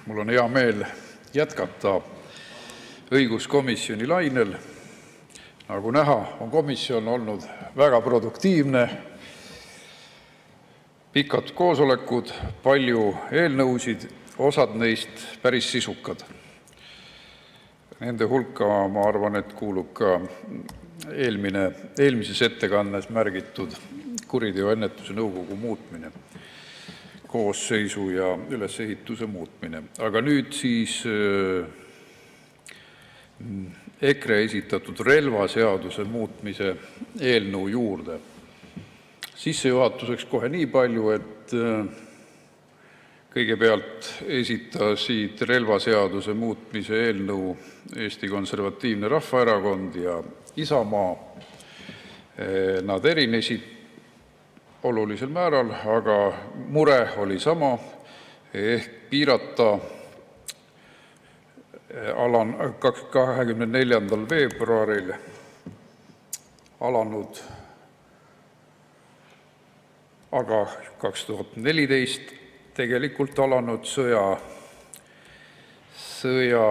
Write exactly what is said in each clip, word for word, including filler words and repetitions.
Mul on hea meel jätkata õiguskomisjoni lainel. Nagu näha, on komisjon olnud väga produktiivne. Pikad koosolekud, palju eelnõusid, osad neist päris sisukad. Nende hulka, ma arvan, et kuulub ka eelmine, eelmises ettekannes märgitud kuriteoennetuse nõukogu muutmine, koosseisu ja ülesehituse muutmine. Aga nüüd siis EKRE esitatud relvaseaduse muutmise eelnõu juurde. Sissejuhatuseks kohe nii palju, et kõigepealt esitasid relvaseaduse muutmise eelnõu Eesti Konservatiivne Rahvaerakond ja Isamaa. Nad erinesid olulisel määral, aga mure oli sama, ehk piirata kahekümne neljandal veebruaril alanud, aga kaks tuhat neliteist tegelikult alanud sõja, sõja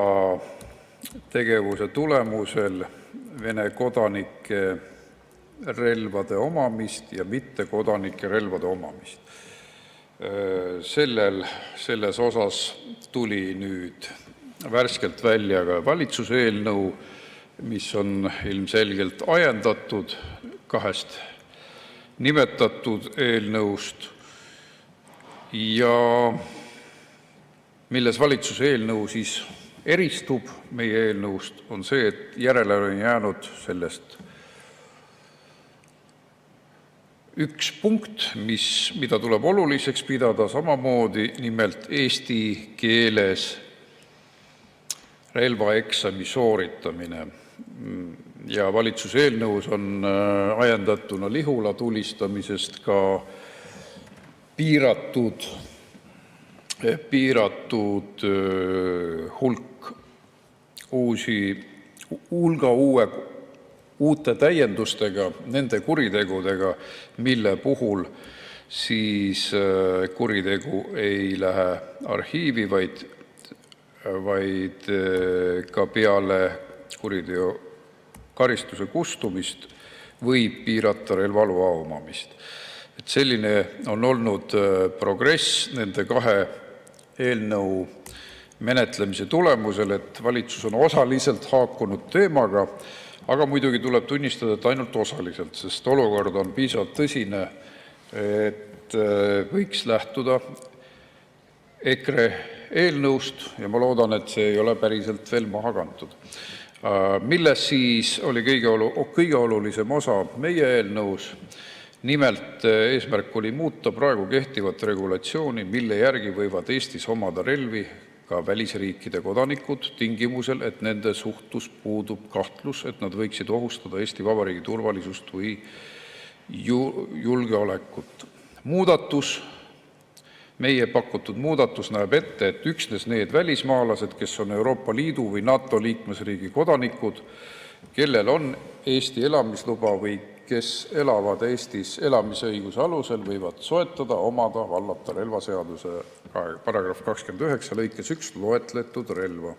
tegevuse tulemusel Vene kodanike relvade omamist ja mittekodanike relvade omamist. Sellel, selles osas tuli nüüd värskelt välja ka valitsuse eelnõu, mis on ilmselgelt ajendatud kahest nimetatud eelnõust ja milles valitsuse eelnõu siis eristub meie eelnõust, on see, et järele on jäänud sellest üks punkt, mis, mida tuleb oluliseks pidada samamoodi, nimelt eesti keeles relvaeksami sooritamine. Ja valitsuse eelnõus on ajendatuna Lihula tulistamisest ka piiratud, piiratud hulk uusi, hulga uue uute täiendustega, nende kuritegudega, mille puhul siis kuritegu ei lähe arhiivi, vaid, vaid ka peale kuriteo karistuse kustumist võib piirata relvaloa omamist. Et selline on olnud progress nende kahe eelnõu menetlemise tulemusel, et valitsus on osaliselt haakunud teemaga, aga muidugi tuleb tunnistada, et ainult osaliselt, sest olukord on piisavalt tõsine, et võiks lähtuda EKRE eelnõust ja ma loodan, et see ei ole päriselt veel maha kantud. Milles siis oli kõige, olu, kõige olulisem osa meie eelnõus? Nimelt eesmärk oli muuta praegu kehtivat regulatsiooni, mille järgi võivad Eestis omada relvi ka välisriikide kodanikud tingimusel, et nende suhtus puudub kahtlus, et nad võiksid ohustada Eesti Vabariigi turvalisust või julgeolekut. Muudatus, meie pakutud muudatus näeb ette, et üksnes need välismaalased, kes on Euroopa Liidu või NATO liikmesriigi kodanikud, kellel on Eesti elamisluba või kes elavad Eestis elamisõiguse alusel, võivad soetada, omada, vallata relvaseaduse paragrahv kakskümmend üheksa lõikes üks loetletud relva.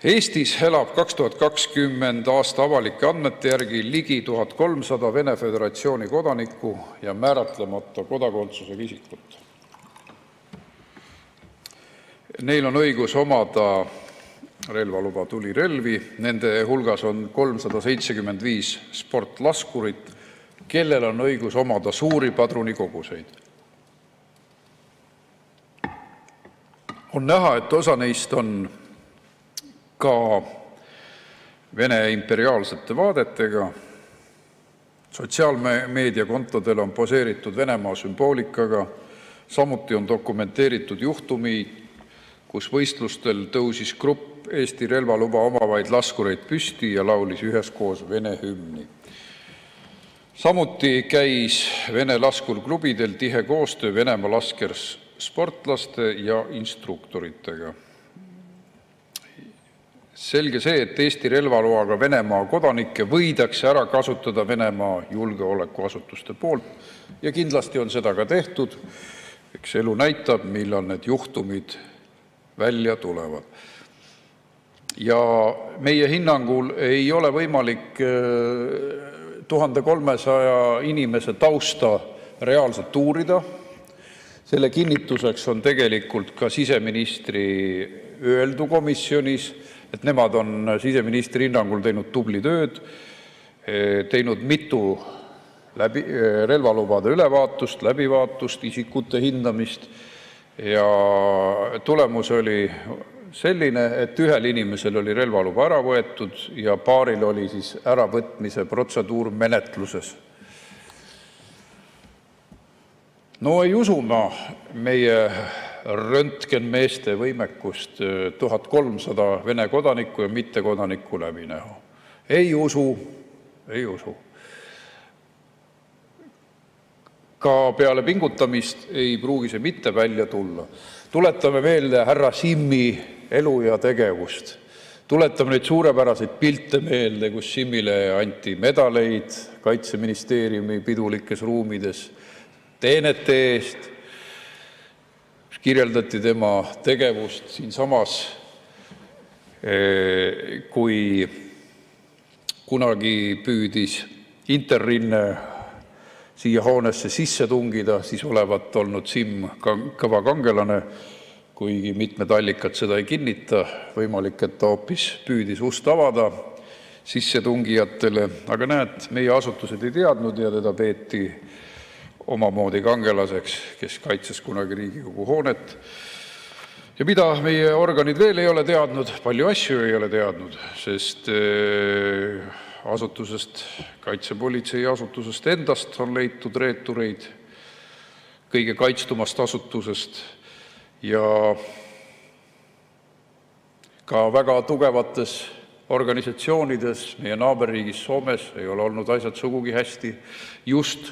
Eestis elab kaks tuhat kakskümmend aasta avalike andmete järgi ligi tuhat kolmsada Vene Föderatsiooni kodanikku ja määratlemata kodakondsusega isikut. Neil on õigus omada relvaluba tulirelvi, nende hulgas on kolmsada seitsekümmend viis sportlaskurit, kellel on õigus omada suuri padrunikoguseid. On näha, et osa neist on ka Vene imperiaalsete vaadetega. Sotsiaalmeediakontodel on poseeritud Venemaa sümboolikaga, samuti on dokumenteeritud juhtumi, kus võistlustel tõusis grupp Eesti relvaluba omavaid laskureid püsti ja laulis üheskoos Vene hümni. Samuti käis Vene laskurklubidel tihe koostöö Venemaa laskersportlaste ja instruktoritega. Selge see, et Eesti relvaloaga Venemaa kodanikke võidakse ära kasutada Venemaa julgeolekuasutuste poolt ja kindlasti on seda ka tehtud. Eks elu näitab, millal need juhtumid välja tulevad. Ja meie hinnangul ei ole võimalik tuhande kolmesaja inimese tausta reaalselt uurida. Selle kinnituseks on tegelikult ka siseministri öeldu komisjonis, et nemad on siseministri hinnangul teinud tubli tööd, teinud mitu läbi, relvalubade ülevaatust, läbivaatust, isikute hindamist ja tulemus oli selline, et ühel inimesel oli relvaluba ära võetud ja paaril oli siis äravõtmise protseduur menetluses. No ei usu ma meie röntgenmeeste võimekust tuhat kolmsada Vene kodanikku ja mittekodanikku läbi näha. Ei usu, ei usu. Ka peale pingutamist ei pruugi see mitte välja tulla. Tuletame meelde härra Simmi elu ja tegevust. Tuletame neid suurepäraseid pilte meelde, kus Simmile anti medaleid Kaitseministeeriumi pidulikes ruumides teenete eest. Kirjeldati tema tegevust siinsamas, kui kunagi püüdis Interrinne siia hoonesse sisse tungida, siis olevat olnud Simm kõva kangelane, kuigi mitmed allikad seda ei kinnita. Võimalik, et ta hoopis püüdis ust avada sissetungijatele, aga näed, meie asutused ei teadnud ja teda peeti omamoodi kangelaseks, kes kaitses kunagi Riigikogu hoonet. Ja mida meie organid veel ei ole teadnud, palju asju ei ole teadnud, sest asutusest, kaitsepolitsei asutusest endast on leitud reetureid, kõige kaitstumast asutusest ja ka väga tugevates organisatsioonides meie naaberriigis Soomes ei ole olnud asjad sugugi hästi. Just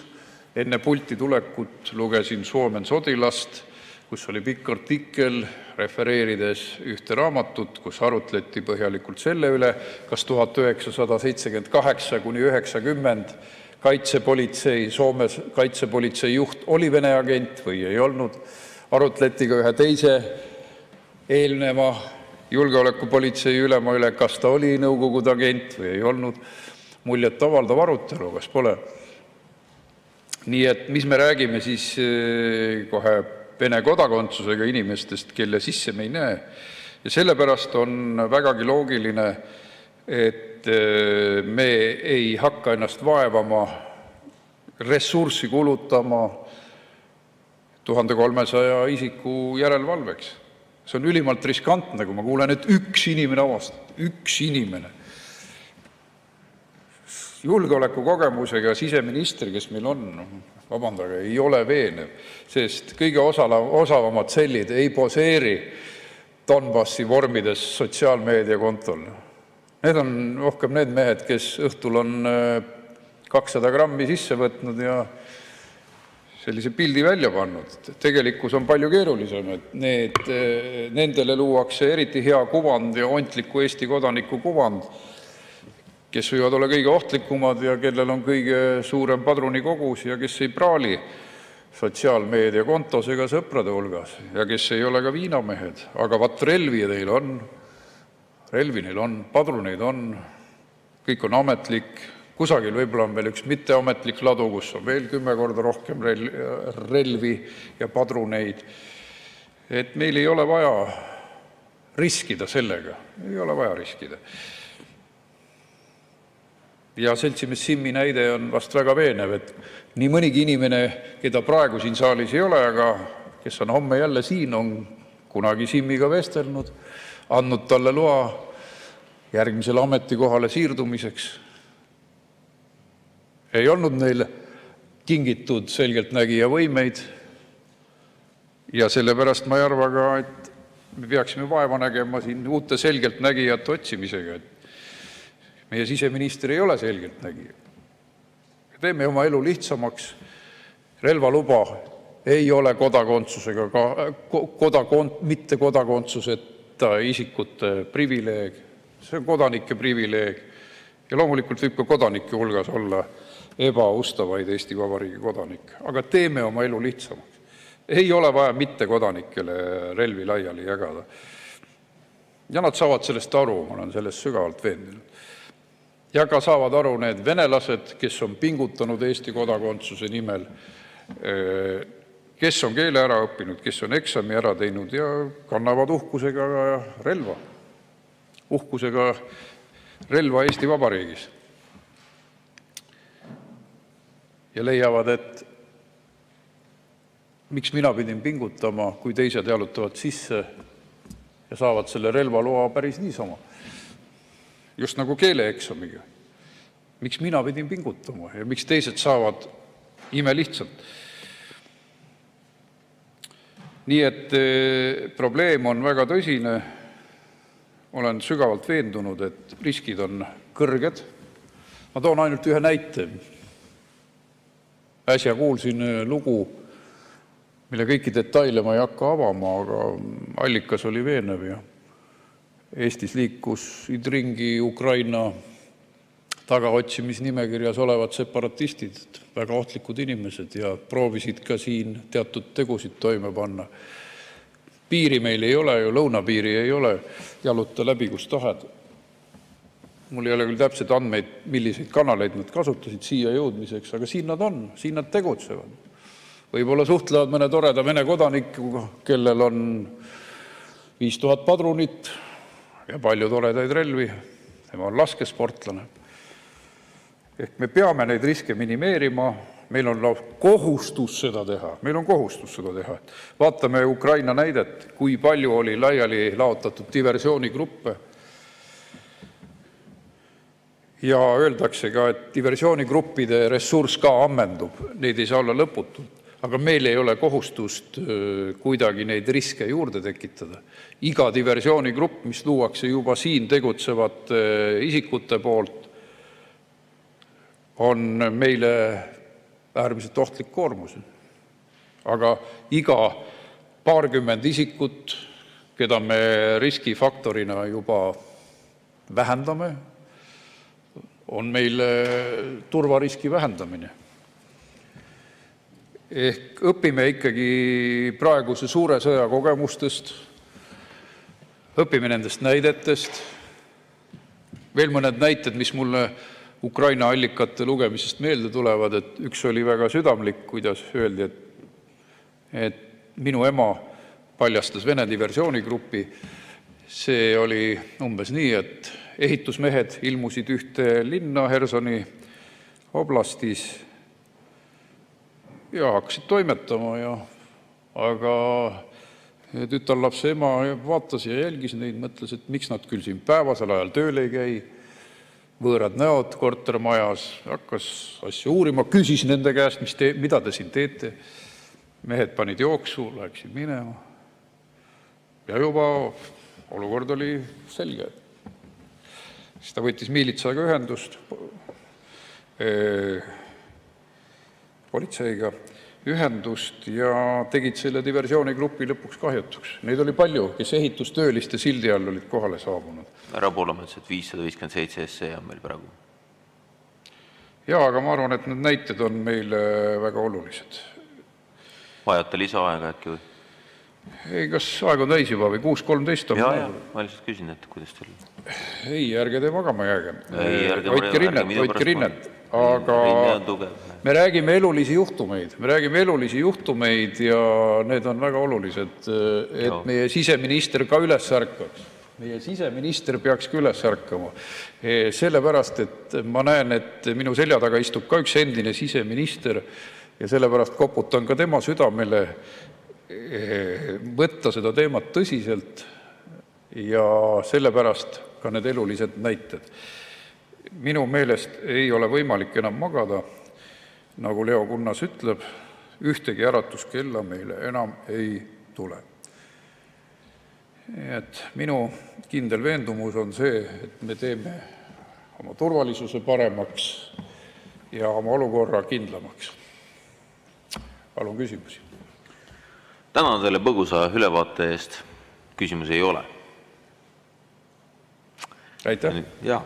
enne pulti tulekut lugesin Suomen Sotilast, kus oli pikk artikkel refereerides ühte raamatut, kus arutleti põhjalikult selle üle, kas tuhat üheksasada seitsekümmend kaheksa kuni üheksakümmend kaitsepolitsei, Soomes kaitsepolitsei juht oli Vene agent või ei olnud. Arutleti ka ühe teise eelneva julgeolekupolitsei ülema üle, kas ta oli Nõukogude agent või ei olnud. Muljet avaldav arutelu, kas pole? Nii et mis me räägime siis kohe Vene kodakondsusega inimestest, kelle sisse me ei näe. Ja sellepärast on vägagi loogiline, et me ei hakka ennast vaevama, ressurssi kulutama tuhande kolmesaja isiku järelevalveks. See on ülimalt riskantne, kui ma kuulen, et üks inimene avastab, üks inimene. Julgeolekukogemusega siseminister, kes meil on, vabandage, ei ole veenev, sest kõige osavamad sellid ei poseeri Donbassi vormides sotsiaalmeediakontol. Need on rohkem need mehed, kes õhtul on kakssada grammi sisse võtnud ja sellise pildi välja pannud. Tegelikkus on palju keerulisem, et need, nendele luuakse eriti hea kuvand ja ontliku Eesti kodaniku kuvand, kes võivad olla kõige ohtlikumad ja kellel on kõige suurem padrunikogus ja kes ei praali sotsiaalmeedia kontos ega sõprade hulgas ja kes ei ole ka viinamehed. Aga vat relvi neil on, relvi neil on, padruneid on, kõik on ametlik. Kusagil võib-olla on veel üks mitteametlik ladu, kus on veel kümme korda rohkem relvi ja padruneid. Et meil ei ole vaja riskida sellega, ei ole vaja riskida. Ja seltsimees Simmi näide on vast väga veenev, et nii mõnigi inimene, keda praegu siin saalis ei ole, aga kes on homme jälle siin, on kunagi Simmiga vestelnud, andnud talle loa järgmisele ametikohale siirdumiseks. Ei olnud neil kingitud selgeltnägija võimeid ja sellepärast ma ei arva ka, et me peaksime vaeva nägema siin uute selgeltnägijate otsimisega, et meie siseminister ei ole selgeltnägija. Teeme oma elu lihtsamaks. Relvaluba ei ole kodakondsusega, kodakond, mitte kodakondsuseta isikute privileeg. See on kodanike privileeg. Ja loomulikult võib ka kodanike hulgas olla ebaustavaid Eesti Vabariigi kodanikke. Aga teeme oma elu lihtsamaks. Ei ole vaja mittekodanikele relvi laiali jagada. Ja nad saavad sellest aru, ma olen sellest sügavalt veendunud. Ja ka saavad aru need venelased, kes on pingutanud Eesti kodakondsuse nimel, kes on keele ära õppinud, kes on eksami ära teinud ja kannavad uhkusega relva. Uhkusega relva Eesti Vabariigis. Ja leiavad, et miks mina pidin pingutama, kui teised jalutavad sisse ja saavad selle relvaloa päris niisama. Just nagu keeleeksamiga. Miks mina pidin pingutama ja miks teised saavad ime lihtsalt. Nii et probleem on väga tõsine. Olen sügavalt veendunud, et riskid on kõrged. Ma toon ainult ühe näite. Äsja kuulsin lugu, mille kõiki detaile ma ei hakka avama, aga allikas oli veenev ja Eestis liikusid ringi Ukraina tagaotsimisnimekirjas olevad separatistid, väga ohtlikud inimesed ja proovisid ka siin teatud tegusid toime panna. Piiri meil ei ole ju, lõunapiiri ei ole, jaluta läbi, kus tahad. Mul ei ole küll täpsed andmeid, milliseid kanaleid nad kasutasid siia jõudmiseks, aga siin nad on, siin nad tegutsevad. Võib-olla suhtlevad mõne toreda Vene kodanikuga, kellel on viis tuhat padrunit ja palju toredaid relvi. Tema on laskesportlane. Ehk me peame neid riske minimeerima. Meil on kohustus seda teha. Meil on kohustus seda teha. Vaatame Ukraina näidet, kui palju oli laiali laotatud diversioonigruppe. Ja öeldakse ka, et diversioonigruppide ressurss ka ammendub. Neid ei saa olla lõputult. Aga meil ei ole kohustust kuidagi neid riske juurde tekitada. Iga diversioonigrupp, mis luuakse juba siin tegutsevate isikute poolt, on meile äärmiselt ohtlik koormus. Aga iga paarkümmend isikut, keda me riskifaktorina juba vähendame, on meile turvariski vähendamine. Ehk õpime ikkagi praeguse suure sõja kogemustest, õpime nendest näidetest. Veel mõned näited, mis mulle Ukraina allikate lugemisest meelde tulevad, et üks oli väga südamlik, kuidas öeldi, et, et minu ema paljastas Vene diversioonigrupi. See oli umbes nii, et ehitusmehed ilmusid ühte linna Hersoni oblastis ja hakkasid toimetama. Ja, aga tütarlapse ema vaatas ja jälgis neid, mõtles, et miks nad küll siin päevasel ajal tööl ei käi. Võõrad näod kortermajas, hakkas asju uurima, küsis nende käest, mis te, mida te siin teete. Mehed panid jooksu, läksid minema. Ja juba olukord oli selge. Siis ta võttis miilitsaga ühendust, politseiga ühendust ja tegid selle diversioonigrupi lõpuks kahjutuks. Neid oli palju, kes ehitustööliste sildi all olid kohale saabunud. Ära Poolamets, et viissada viiskümmend seitse S E on meil praegu. Jaa, aga ma arvan, et need näited on meile väga olulised. Vajate lisaaega äkki või? Ei, kas aeg on täis juba või kuus kolmteist on? Jaa, jaa, ma lihtsalt küsin, et kuidas teil? Ei, ärge te magama jääge. Ei, ärge hoidke rinnet, hoidke rinnet. Aga me räägime elulisi juhtumeid. Me räägime elulisi juhtumeid ja need on väga olulised, et meie siseminister ka üles ärkaks. Meie siseminister peaks ka üles ärkama. Sellepärast, et ma näen, et minu selja taga istub ka üks endine siseminister ja sellepärast koputan ka tema südamele võtta seda teemat tõsiselt ja sellepärast ka need elulised näited. Minu meelest ei ole võimalik enam magada, nagu Leo Kunnas ütleb, ühtegi äratuskella meile enam ei tule. Et minu kindel veendumus on see, et me teeme oma turvalisuse paremaks ja oma olukorra kindlamaks. Palun küsimusi. Tänan teile põgusa ülevaate eest. Küsimusi ei ole. Aitäh. Jah.